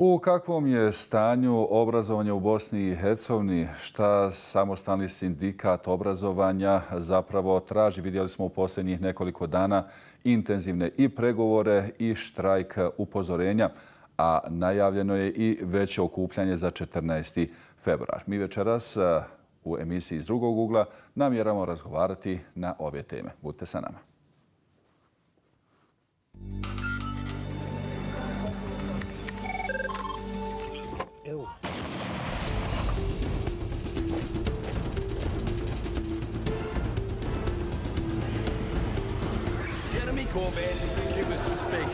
U kakvom je stanju obrazovanja u Bosni i Hercegovini? Šta samostalni sindikat obrazovanja zapravo traži? Vidjeli smo u posljednjih nekoliko dana intenzivne i pregovore i štrajk upozorenja, a najavljeno je i veće okupljanje za 14. februar. Mi večeras u emisiji Iz drugog ugla namjeravamo razgovarati na ove teme. Budite sa nama. Jeremy Corbyn, give us to speak.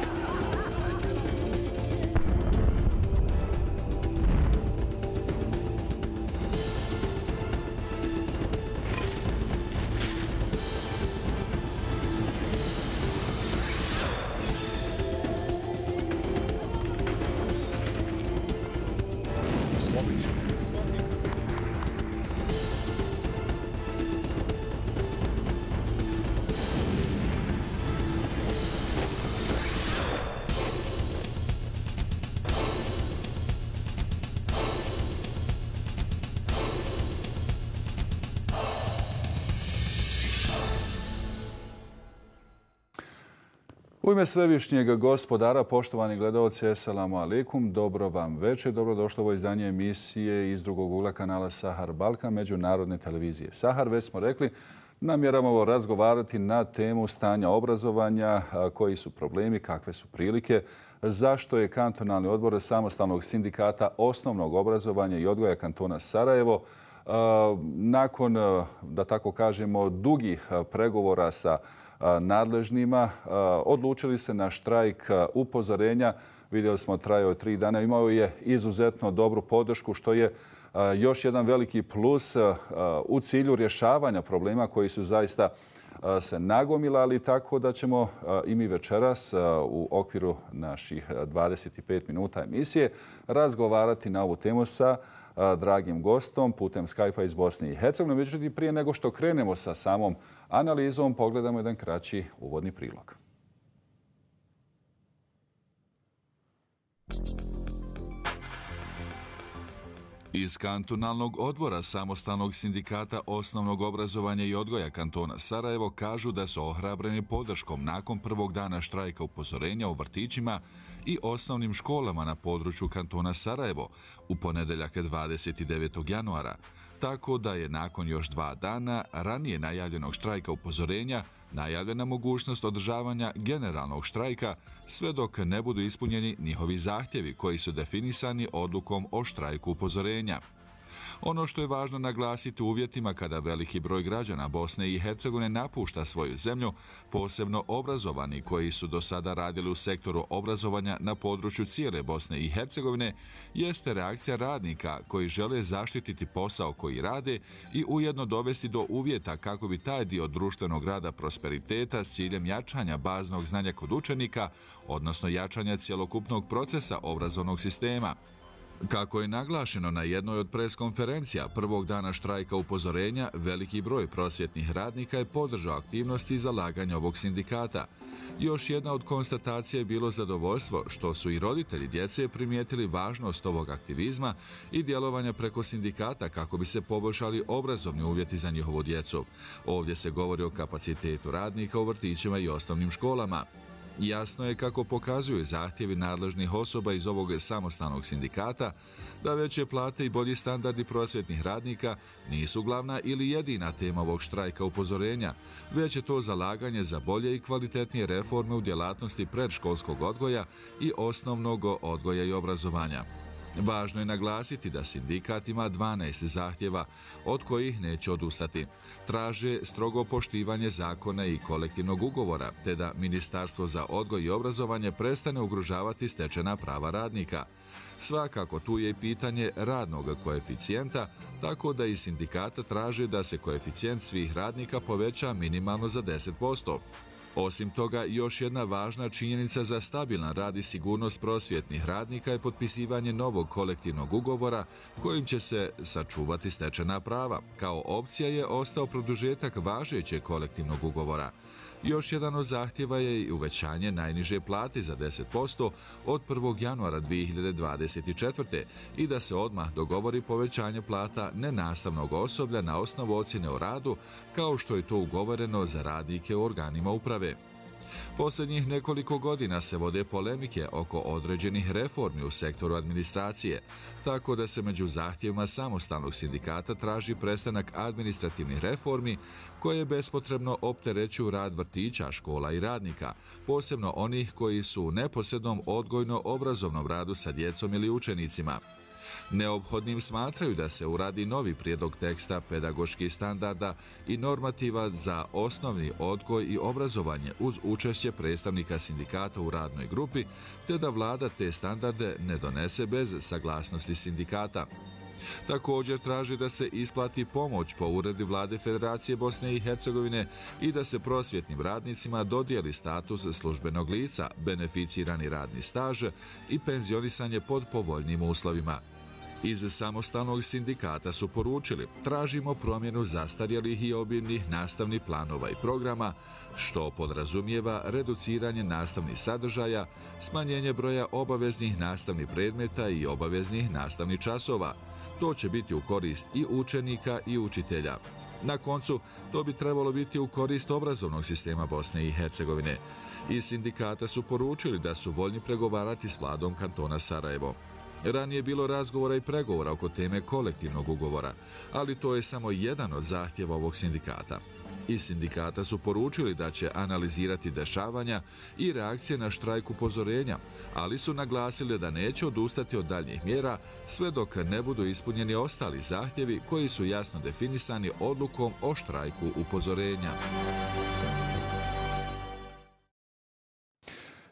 U ime svevišnjeg gospodara, poštovani gledalci, eselamu alaikum, dobro vam večer, dobrodošlo u ovo izdanje emisije Iz drugog ugla kanala Sahar Balkan, međunarodne televizije Sahar. Već smo rekli, namjeravamo razgovarati na temu stanja obrazovanja, koji su problemi, kakve su prilike, zašto je kantonalni odbor samostalnog sindikata osnovnog obrazovanja i odgoja kantona Sarajevo nakon, da tako kažemo, dugih pregovora sa nadležnima odlučili se na štrajk upozorenja. Vidjeli smo, trajao 3 dana. Imao je izuzetno dobru podršku, što je još jedan veliki plus u cilju rješavanja problema koji su zaista se nagomilali, tako da ćemo i mi večeras u okviru naših 25 minuta emisije razgovarati na ovu temu sa dragim gostom putem Skype-a iz Bosne i Hercegovine. Međutim, prije nego što krenemo sa samom analizom, pogledamo jedan kraći uvodni prilog. Iz kantonalnog odbora samostalnog sindikata osnovnog obrazovanja i odgoja kantona Sarajevo kažu da su ohrabreni podrškom nakon prvog dana štrajka upozorenja u vrtićima i osnovnim školama na području kantona Sarajevo u ponedeljak 29. januara, tako da je nakon još 2 dana ranije najavljenog štrajka upozorenja najavljena mogućnost održavanja generalnog štrajka sve dok ne budu ispunjeni njihovi zahtjevi koji su definisani odlukom o štrajku upozorenja. Ono što je važno naglasiti u uvjetima kada veliki broj građana Bosne i Hercegovine napušta svoju zemlju, posebno obrazovani koji su do sada radili u sektoru obrazovanja na području cijele Bosne i Hercegovine, jeste reakcija radnika koji žele zaštititi posao koji rade i ujedno dovesti do uvjeta kako bi taj dio društvenog rada prosperiteta s ciljem jačanja baznog znanja kod učenika, odnosno jačanja cjelokupnog procesa obrazovnog sistema. Kako je naglašeno na jednoj od preskonferencija prvog dana štrajka upozorenja, veliki broj prosvjetnih radnika je podržao aktivnosti i zalaganje ovog sindikata. Još jedna od konstatacija je bilo zadovoljstvo što su i roditelji djece primijetili važnost ovog aktivizma i djelovanja preko sindikata kako bi se poboljšali obrazovni uvjeti za njihovu djecu. Ovdje se govori o kapacitetu radnika u vrtićima i osnovnim školama. Jasno je, kako pokazuju zahtjevi nadležnih osoba iz ovog samostalnog sindikata, da veće plate i bolji standardi prosvjetnih radnika nisu glavna ili jedina tema ovog štrajka upozorenja, već je to zalaganje za bolje i kvalitetnije reforme u djelatnosti predškolskog odgoja i osnovnog odgoja i obrazovanja. Važno je naglasiti da sindikat ima 12 zahtjeva, od kojih neće odustati. Traže strogo poštivanje zakona i kolektivnog ugovora, te da Ministarstvo za odgoj i obrazovanje prestane ugrožavati stečena prava radnika. Svakako tu je i pitanje radnog koeficijenta, tako da i sindikata traže da se koeficijent svih radnika poveća minimalno za 10%. Osim toga, još jedna važna činjenica za stabilan rad i sigurnost prosvjetnih radnika je potpisivanje novog kolektivnog ugovora kojim će se sačuvati stečena prava. Kao opcija je ostao produžetak važećeg kolektivnog ugovora. Još jedan od zahtjeva je i uvećanje najniže plate za 10% od 1. januara 2024. i da se odmah dogovori povećanje plata nenastavnog osoblja na osnovu ocjene o radu, kao što je to ugovoreno za radnike u organima uprave. Posljednjih nekoliko godina se vode polemike oko određenih reformi u sektoru administracije, tako da se među zahtjevima samostalnog sindikata traži prestanak administrativnih reformi koje bespotrebno opterećuju rad vrtića, škola i radnika, posebno onih koji su u neposrednom odgojno-obrazovnom radu sa djecom ili učenicima. Neophodnim smatraju da se uradi novi prijedlog teksta pedagoških standarda i normativa za osnovni odgoj i obrazovanje uz učešće predstavnika sindikata u radnoj grupi, te da vlada te standarde ne donese bez saglasnosti sindikata. Također traži da se isplati pomoć po uredbi vlade Federacije Bosne i Hercegovine i da se prosvjetnim radnicima dodijeli status službenog lica, beneficirani radni staž i penzionisanje pod povoljnim uslovima. Iz samostalnog sindikata su poručili: tražimo promjenu zastarjelih i obimnih nastavnih planova i programa, što podrazumijeva reduciranje nastavnih sadržaja, smanjenje broja obaveznih nastavnih predmeta i obaveznih nastavnih časova. To će biti u korist i učenika i učitelja. Na koncu, to bi trebalo biti u korist obrazovnog sistema Bosne i Hercegovine. Iz sindikata su poručili da su voljni pregovarati s vladom kantona Sarajevo. Ranije je bilo razgovora i pregovora oko teme kolektivnog ugovora, ali to je samo jedan od zahtjeva ovog sindikata. Iz sindikata su poručili da će analizirati dešavanja i reakcije na štrajk upozorenja, ali su naglasili da neće odustati od daljnjih mjera sve dok ne budu ispunjeni ostali zahtjevi koji su jasno definisani odlukom o štrajku upozorenja.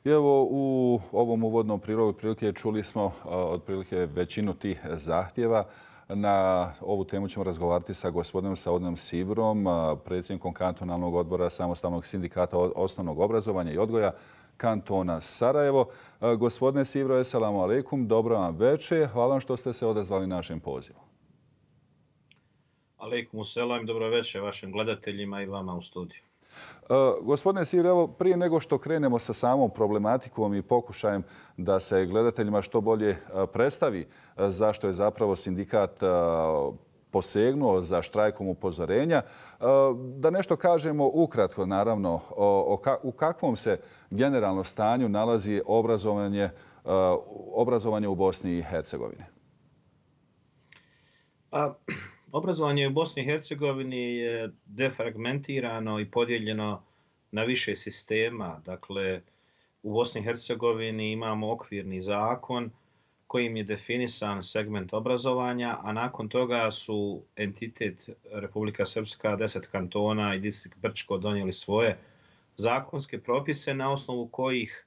I evo, u ovom uvodnom prilogu otprilike čuli smo otprilike većinu tih zahtjeva. Na ovu temu ćemo razgovarati sa gospodinom Saudom Sivrom, predsjednikom kantonalnog odbora samostalnog sindikata osnovnog obrazovanja i odgoja kantona Sarajevo. Gospodine Sivro, eselamu alaikum, dobro vam večer. Hvala vam što ste se odazvali našem pozivu. Alaikum selam, dobro večer vašim gledateljima i vama u studiju. Gospodine Sivro, evo, prije nego što krenemo sa samom problematikom i pokušajem da se gledateljima što bolje predstavi zašto je zapravo sindikat posegnuo za štrajkom upozorenja, da nešto kažemo ukratko, naravno, u kakvom se generalno stanju nalazi obrazovanje u Bosni i Hercegovini. Obrazovanje u Bosni i Hercegovini je defragmentirano i podijeljeno na više sistema. Dakle, u Bosni i Hercegovini imamo okvirni zakon kojim je definisan segment obrazovanja, a nakon toga su entitet Republika Srpska, 10 kantona i distrikt Brčko donijeli svoje zakonske propise na osnovu kojih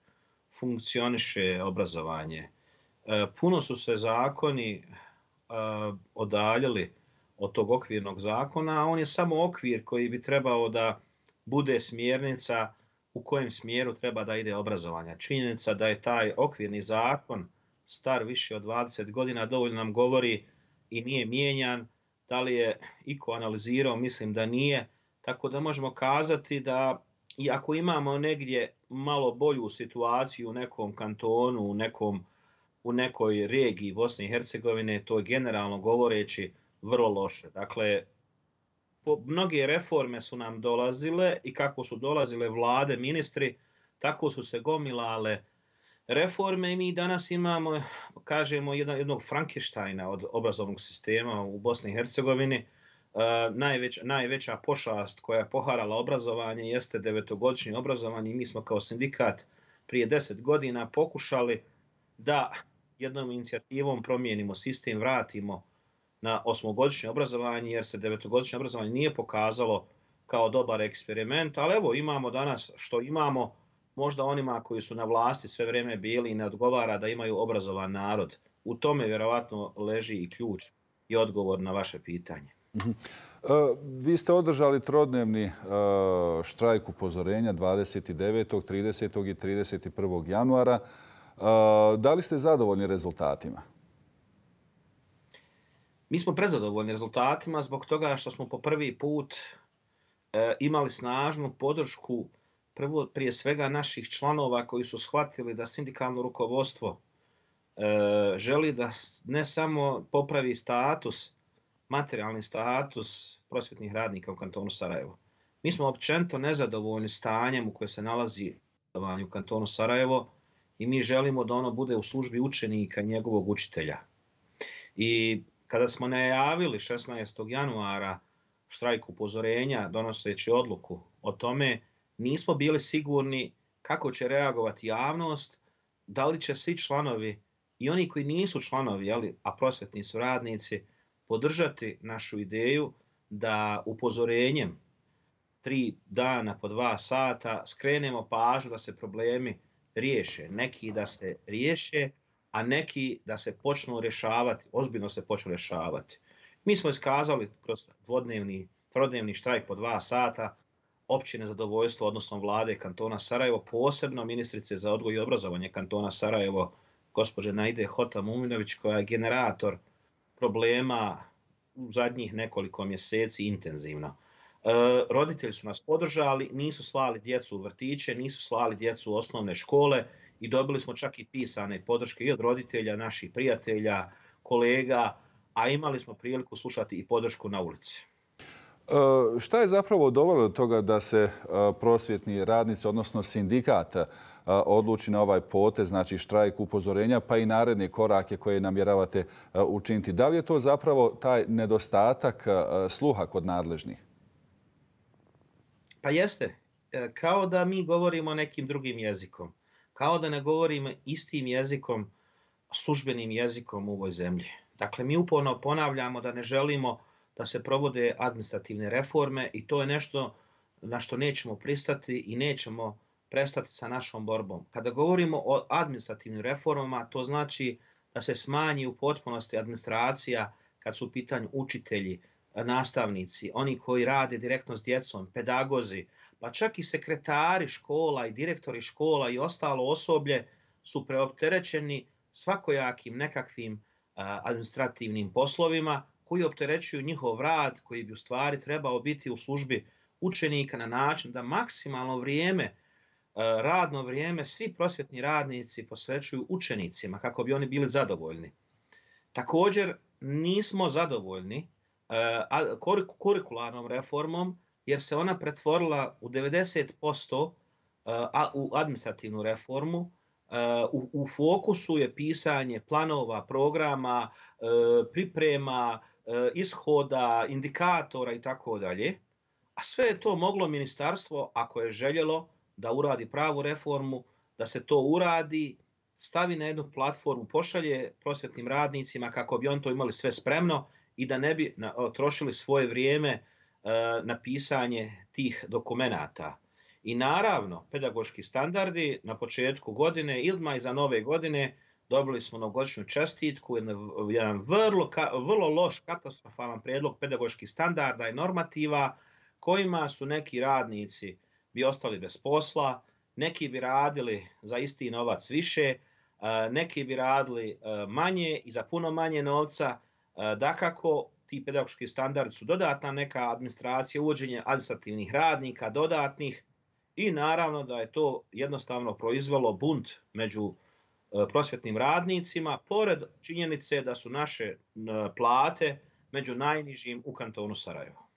funkcioniše obrazovanje. Puno su se zakoni odaljili od tog okvirnog zakona, a on je samo okvir koji bi trebao da bude smjernica u kojem smjeru treba da ide obrazovanje. Činjenica da je taj okvirni zakon star više od 20 godina dovoljno nam govori i nije mijenjan. Da li je iko analizirao? Mislim da nije. Tako da možemo kazati da i ako imamo negdje malo bolju situaciju u nekom kantonu, u nekoj regiji Bosne i Hercegovine, to je generalno govoreći vrlo loše. Dakle, mnoge reforme su nam dolazile i kako su dolazile vlade, ministri, tako su se gomilale reforme i mi danas imamo, kažemo, jednog Frankensteina od obrazovnog sistema u Bosni i Hercegovini. Najveća pošast koja je poharala obrazovanje jeste 9-godišnje obrazovanje i mi smo kao sindikat prije 10 godina pokušali da jednom inicijativom promijenimo sistem, vratimo na 8-godišnje obrazovanje, jer se 9-godišnje obrazovanje nije pokazalo kao dobar eksperiment, ali evo imamo danas što imamo, možda onima koji su na vlasti sve vrijeme bili i ne odgovara da imaju obrazovan narod. U tome vjerovatno leži i ključ i odgovor na vaše pitanje. Vi ste održali trodnevni štrajk upozorenja 29., 30. i 31. januara. Da li ste zadovoljni rezultatima? Mi smo prezadovoljni rezultatima zbog toga što smo po prvi put imali snažnu podršku prije svega naših članova koji su shvatili da sindikalno rukovodstvo želi da ne samo popravi status, materijalni status prosvjetnih radnika u kantonu Sarajevo. Mi smo općenito nezadovoljni stanjem u kojem se nalazi u kantonu Sarajevo i mi želimo da ono bude u službi učenika i njegovog učitelja. I kada smo najavili 16. januara štrajk upozorenja donoseći odluku o tome, nismo bili sigurni kako će reagovati javnost, da li će svi članovi i oni koji nisu članovi, a prosvjetni su radnici, podržati našu ideju da upozorenjem 3 dana po 2 sata skrenemo pažnju da se problemi riješe. Neki da se riješe, a neki da se počnu rješavati, ozbiljno se počnu rješavati. Mi smo iskazali kroz trodnevni štrajk po 2 sata opće nezadovoljstvo odnosno vlade kantona Sarajevo, posebno ministrice za odgoj i obrazovanje kantona Sarajevo, gospođe Naide Hota-Muminović, koja je generator problema u zadnjih nekoliko mjeseci intenzivno. Roditelji su nas podržali, nisu slali djecu u vrtiće, nisu slali djecu u osnovne škole i dobili smo čak i pisane podrške i od roditelja, naših prijatelja, kolega, a imali smo priliku slušati i podršku na ulici. Šta je zapravo dovelo do toga da se prosvjetni radnici, odnosno sindikat, odluči na ovaj potez, znači štrajk upozorenja, pa i naredne korake koje namjeravate učiniti? Da li je to zapravo taj nedostatak sluha kod nadležnih? Pa jeste. Kao da mi govorimo nekim drugim jezikom. Kao da ne govorimo istim jezikom, službenim jezikom u ovoj zemlji. Dakle, mi uporno ponavljamo da ne želimo da se provode administrativne reforme i to je nešto na što nećemo pristati i nećemo prestati sa našom borbom. Kada govorimo o administrativnim reformama, to znači da se smanji u potpunosti administracija kad su u pitanju učitelji, nastavnici, oni koji rade direktno s djecom, pedagozi, pa čak i sekretari škola i direktori škola i ostalo osoblje su preopterećeni svakojakim nekakvim administrativnim poslovima koji opterećuju njihov rad, koji bi u stvari trebao biti u službi učenika na način da maksimalno vrijeme, radno vrijeme, svi prosvjetni radnici posvećuju učenicima kako bi oni bili zadovoljni. Također nismo zadovoljni kurikularnom reformom jer se ona pretvorila u 90% u administrativnu reformu. U fokusu je pisanje planova, programa, priprema, ishoda, indikatora i tako dalje. A sve je to moglo ministarstvo, ako je željelo da uradi pravu reformu, da se to uradi, stavi na jednu platformu, pošalje prosvjetnim radnicima kako bi on to imali sve spremno i da ne bi trošili svoje vrijeme na pisanje tih dokumenata. I naravno, pedagoški standardi na početku godine ili iza nove godine dobili smo novogodišnju čestitku, jedan vrlo loš, katastrofalan prijedlog pedagoških standarda i normativa kojima su neki radnici bi ostali bez posla, neki bi radili za isti novac više, neki bi radili manje i za puno manje novca. Dakako, ti pedagoški standardi su dodatna neka administracija, uvođenje administrativnih radnika, dodatnih i naravno da je to jednostavno proizvelo bunt među prosvjetnim radnicima, pored činjenice da su naše plate među najnižim u kantonu Sarajevo.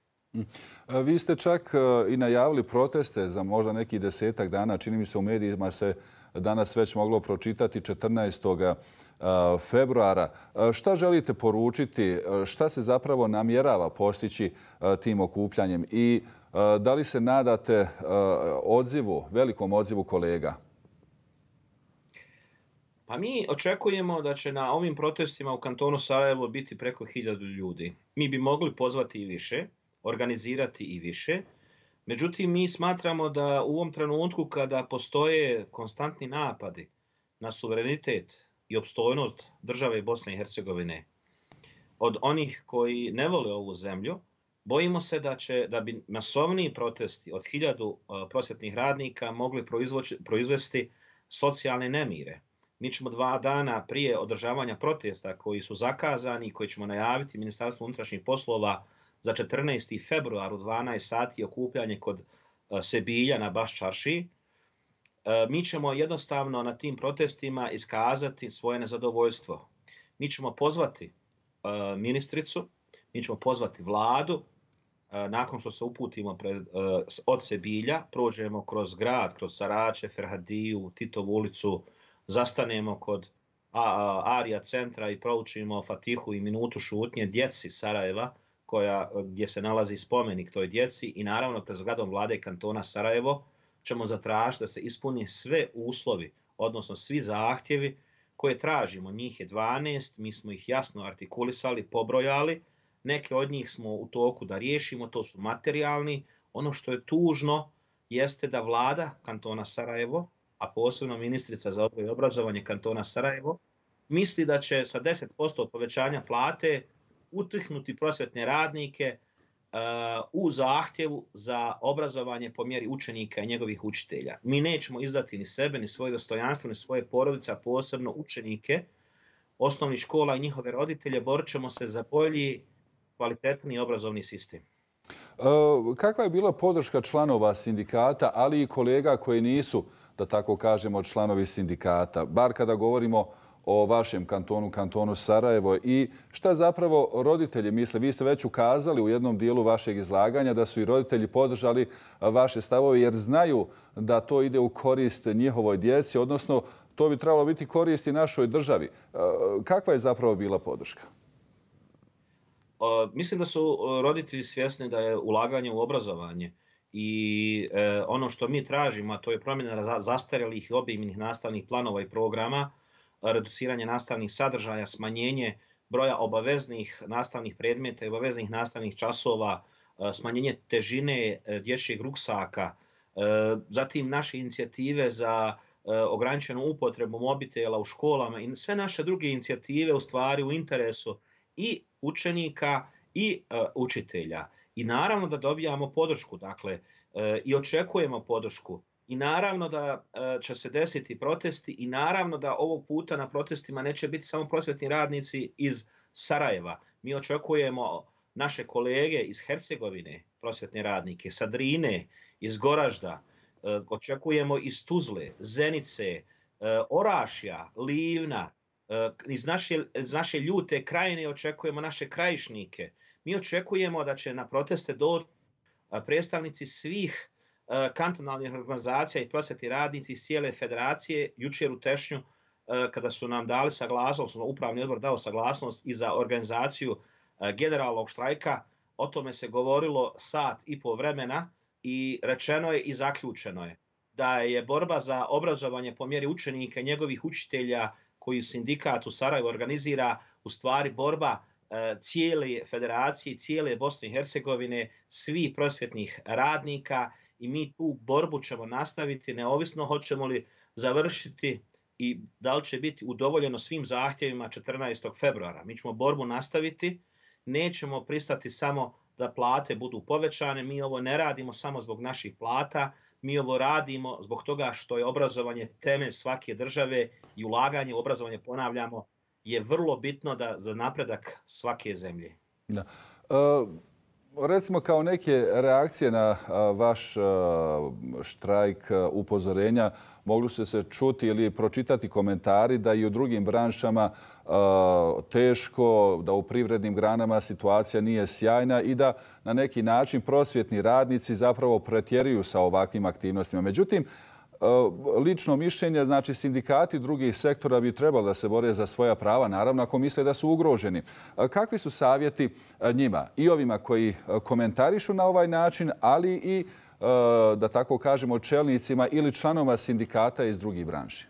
Vi ste čak i najavili proteste za možda neki 10-ak dana. Čini mi se u medijima se danas već moglo pročitati 14. februara. Šta želite poručiti? Šta se zapravo namjerava postići tim okupljanjem? I da li se nadate velikom odzivu kolega? Pa mi očekujemo da će na ovim protestima u kantonu Sarajevo biti preko 1000 ljudi. Mi bi mogli pozvati i više, organizirati i više. Međutim, mi smatramo da u ovom trenutku kada postoje konstantni napadi na suverenitet i opstojnost države Bosne i Hercegovine od onih koji ne vole ovu zemlju, bojimo se da bi masovniji protesti od 1000 prosvjetnih radnika mogli proizvesti socijalne nemire. Mi ćemo 2 dana prije održavanja protesta koji su zakazani i koji ćemo najaviti Ministarstvu unutrašnjih poslova za 14. februar u 12 sati okupljanje kod Sebilja na Baš Čaršiji. Mi ćemo jednostavno na tim protestima iskazati svoje nezadovoljstvo. Mi ćemo pozvati ministricu, mi ćemo pozvati vladu, nakon što se uputimo od Sebilja, prođemo kroz grad, kroz Sarače, Ferhadiju, Titovu ulicu, zastanemo kod Arija centra i proučimo Fatihu i minutu šutnje djeci Sarajeva, gdje se nalazi spomenik toj djeci, i naravno pred zgradom vlade kantona Sarajevo ćemo zatražiti da se ispuni sve uslovi, odnosno svi zahtjevi koje tražimo. Njih je 12, mi smo ih jasno artikulisali, pobrojali. Neke od njih smo u toku da riješimo, to su materijalni. Ono što je tužno jeste da vlada kantona Sarajevo, a posebno ministrica za odgoj i obrazovanje kantona Sarajevo, misli da će sa 10% povećanja plate utihnuti prosvjetne radnike u zahtjevu za obrazovanje po mjeri učenika i njegovih učitelja. Mi nećemo izdati ni sebe, ni svoje dostojanstvo, ni svoje porodice, a posebno učenike osnovnih škola i njihove roditelje. Borit ćemo se za bolji, kvalitetni obrazovni sistem. Kakva je bila podrška članova sindikata, ali i kolega koji nisu, da tako kažemo, članovi sindikata, bar kada govorimo o vašem kantonu, kantonu Sarajevo, i šta zapravo roditelji misle? Vi ste već ukazali u jednom dijelu vašeg izlaganja da su i roditelji podržali vaše stavove jer znaju da to ide u korist njihovoj djeci, odnosno to bi trebalo biti korist i našoj državi. Kakva je zapravo bila podrška? Mislim da su roditelji svjesni da je ulaganje u obrazovanje i ono što mi tražimo, a to je promjena zastarjelih i obimnih nastavnih planova i programa, reduciranje nastavnih sadržaja, smanjenje broja obaveznih nastavnih predmeta i obaveznih nastavnih časova, smanjenje težine dječjeg ruksaka, zatim naše inicijative za ograničenu upotrebu mobitela u školama i sve naše druge inicijative u stvari u interesu i učenika i učitelja. I naravno da dobijamo podršku, dakle, i očekujemo podršku. I naravno da će se desiti protesti i naravno da ovog puta na protestima neće biti samo prosvjetni radnici iz Sarajeva. Mi očekujemo naše kolege iz Hercegovine, prosvjetne radnike, sa Drine, iz Goražda, očekujemo iz Tuzle, Zenice, Orašja, Livna, iz naše Ljute krajine očekujemo naše krajišnike. Mi očekujemo da će na proteste doći predstavnici svih kantonalnih organizacija i prosvjetni radnici iz cijele federacije. Jučer u Tešnju, kada su nam dali saglasnost, upravni odbor dao saglasnost i za organizaciju generalnog štrajka, o tome se govorilo 1.5 sata vremena i rečeno je i zaključeno je da je borba za obrazovanje po mjeri učenika i njegovih učitelja koju sindikat u Sarajevu organizira u stvari borba cijele federacije, cijele Bosne i Hercegovine, svih prosvjetnih radnika, i mi tu borbu ćemo nastaviti neovisno hoćemo li završiti i da li će biti udovoljeno svim zahtjevima 14. februara. Mi ćemo borbu nastaviti, nećemo pristati samo da plate budu povećane, mi ovo ne radimo samo zbog naših plata, mi ovo radimo zbog toga što je obrazovanje temelj svake države i ulaganje u obrazovanje, ponavljamo, je vrlo bitno za napredak svake zemlje. Da. Recimo kao neke reakcije na vaš štrajk, upozorenja, mogli su se čuti ili pročitati komentari da i u drugim branšama teško, da u privrednim granama situacija nije sjajna i da na neki način prosvjetni radnici zapravo pretjeruju sa ovakvim aktivnostima. Međutim, lično mišljenje, znači sindikati drugih sektora bi trebali da se bore za svoja prava, naravno ako misle da su ugroženi. Kakvi su savjeti njima i ovima koji komentarišu na ovaj način, ali i, da tako kažemo, čelnicima ili članova sindikata iz drugih branši?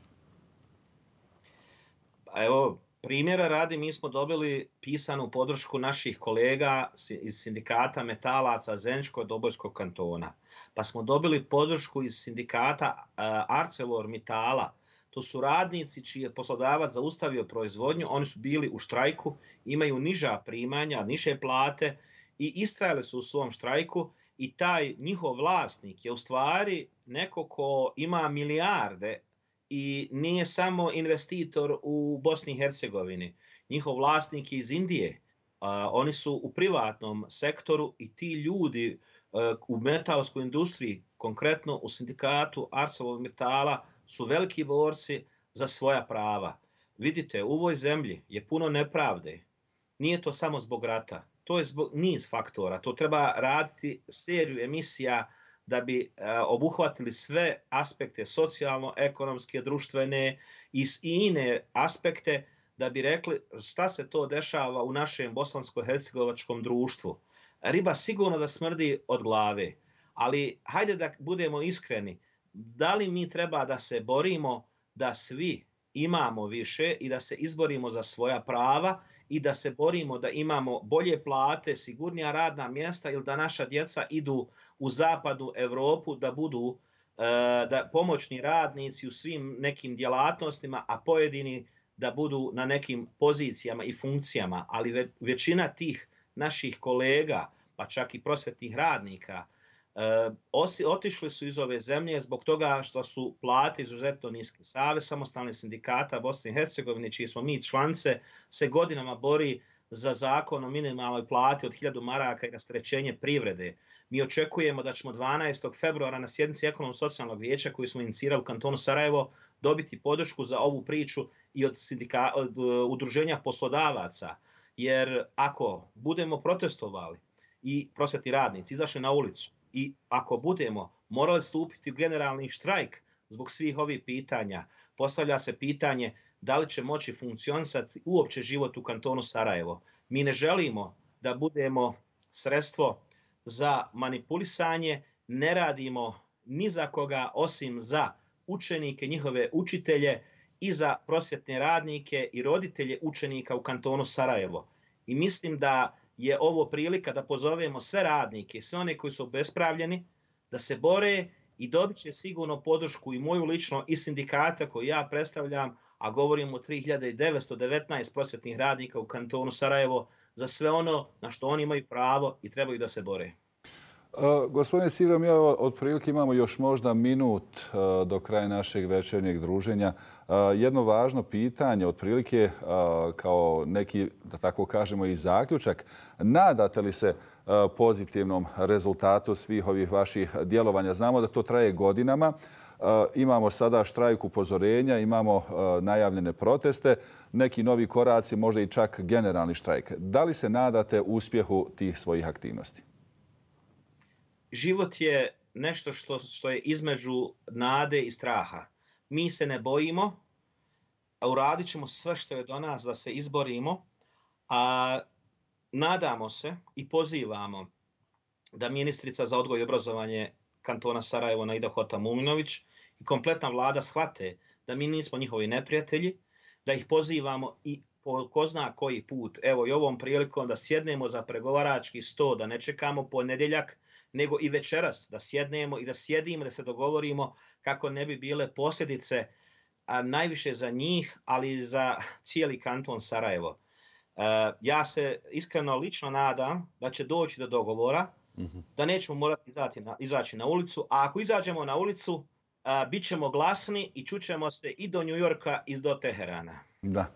Evo, primjera radi, mi smo dobili pisanu podršku naših kolega iz sindikata metalaca Zeničko-Dobojskog kantona. Pa smo dobili podršku iz sindikata ArcelorMittala. To su radnici čiji je poslodavac zaustavio proizvodnju, oni su bili u štrajku, imaju niža primanja, niže plate i istrajali su u svom štrajku, i taj njihov vlasnik je u stvari neko ko ima milijarde i nije samo investitor u Bosni i Hercegovini. Njihov vlasnik je iz Indije. Oni su u privatnom sektoru i ti ljudi u metalskoj industriji konkretno u sindikatu ArcelorMittala su veliki borci za svoja prava. Vidite, u ovoj zemlji je puno nepravde. Nije to samo zbog rata. To je zbog niz faktora. To treba raditi seriju emisija da bi obuhvatili sve aspekte socijalno-ekonomske, društvene i ine aspekte da bi rekli šta se to dešava u našem bosansko-hercegovačkom društvu. Riba sigurno da smrdi od glave, ali hajde da budemo iskreni. Da li mi treba da se borimo da svi imamo više i da se izborimo za svoja prava i da se borimo da imamo bolje plate, sigurnija radna mjesta ili da naša djeca idu u zapadnu Evropu da budu da pomoćni radnici u svim nekim djelatnostima, a pojedini da budu na nekim pozicijama i funkcijama, ali većina tih naših kolega, pa čak i prosvetnih radnika, otišli su iz ove zemlje zbog toga što su plate izuzetno niske. Savez samostalnih sindikata Bosne i Hercegovine, čiji smo mi članice, se godinama bori za zakon o minimalnoj plati od 1000 maraka i rasterećenje privrede. Mi očekujemo da ćemo 12. februara na sjednici Ekonomsko-socijalnog vijeća koju smo inicirali u kantonu Sarajevo dobiti podršku za ovu priču i od udruženja poslodavaca. Jer ako budemo protestovali i prosvetni radnici izašli na ulicu i ako budemo morali stupiti u generalni štrajk zbog svih ovih pitanja, postavlja se pitanje da li će moći funkcionisati uopće život u kantonu Sarajevo. Mi ne želimo da budemo sredstvo za manipulisanje, ne radimo ni za koga osim za učenike, njihove učitelje i za prosvjetne radnike i roditelje učenika u kantonu Sarajevo. I mislim da je ovo prilika da pozovemo sve radnike, sve one koji su obespravljeni, da se bore i dobit će sigurno podršku i moju lično i sindikata koju ja predstavljam, a govorimo o 3919 prosvjetnih radnika u kantonu Sarajevo, za sve ono na što oni imaju pravo i trebaju da se bore. Gospodine Sivro, mi otprilike imamo još možda minut do kraja našeg večernjeg druženja. Jedno važno pitanje, otprilike kao neki, da tako kažemo, i zaključak. Nadate li se pozitivnom rezultatu svih ovih vaših djelovanja? Znamo da to traje godinama. Imamo sada štrajk upozorenja, imamo najavljene proteste, neki novi koraci, možda i čak generalni štrajk. Da li se nadate uspjehu tih svojih aktivnosti? Život je nešto što je između nade i straha. Mi se ne bojimo, a uradit ćemo sve što je do nas da se izborimo, a nadamo se i pozivamo da ministrica za odgoj i obrazovanje kantona Sarajevo Naida Hota-Muminović i kompletna vlada shvate da mi nismo njihovi neprijatelji, da ih pozivamo i po ko zna koji put, evo i ovom prilikom da sjednemo za pregovarački sto, da ne čekamo ponedjeljak, nego i večeras da sjednemo i da sjedimo, da se dogovorimo kako ne bi bile posljedice, a najviše za njih, ali i za cijeli kanton Sarajevo. Ja se iskreno lično nadam da će doći do dogovora, da nećemo morati izaći na ulicu, a ako izađemo na ulicu, bit ćemo glasni i čućemo se i do New Yorka i do Teherana. Da.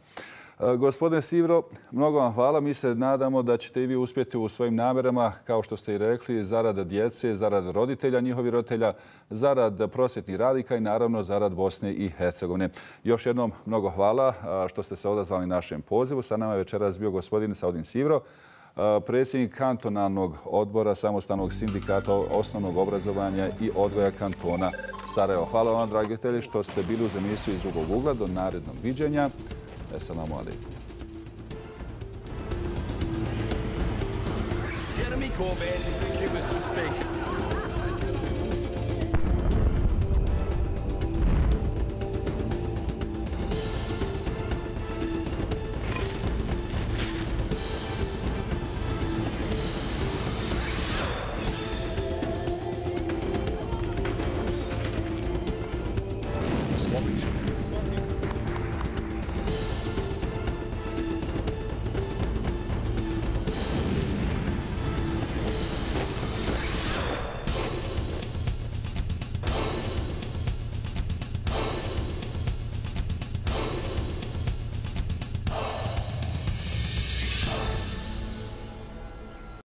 Gospodine Sivro, mnogo vam hvala. Mi se nadamo da ćete i vi uspjeti u svojim namjerama, kao što ste i rekli, zarad djece, zarad roditelja, njihovih roditelja, zarad prosvjetnih radnika i naravno zarad Bosne i Hercegovine. Još jednom mnogo hvala što ste se odazvali našem pozivu. Sa nama je večeras bio gospodin Saudin Sivro, predsjednik kantonalnog odbora Samostalnog sindikata osnovnog obrazovanja i odgoja kantona Sarajevo. Hvala vam, dragi gledatelji, što ste bili uz emisiju Iz drugog ugla. Do narednog viđenja. Assalamu alaikum. Jeremy Corbyn, he was to speak. Slović.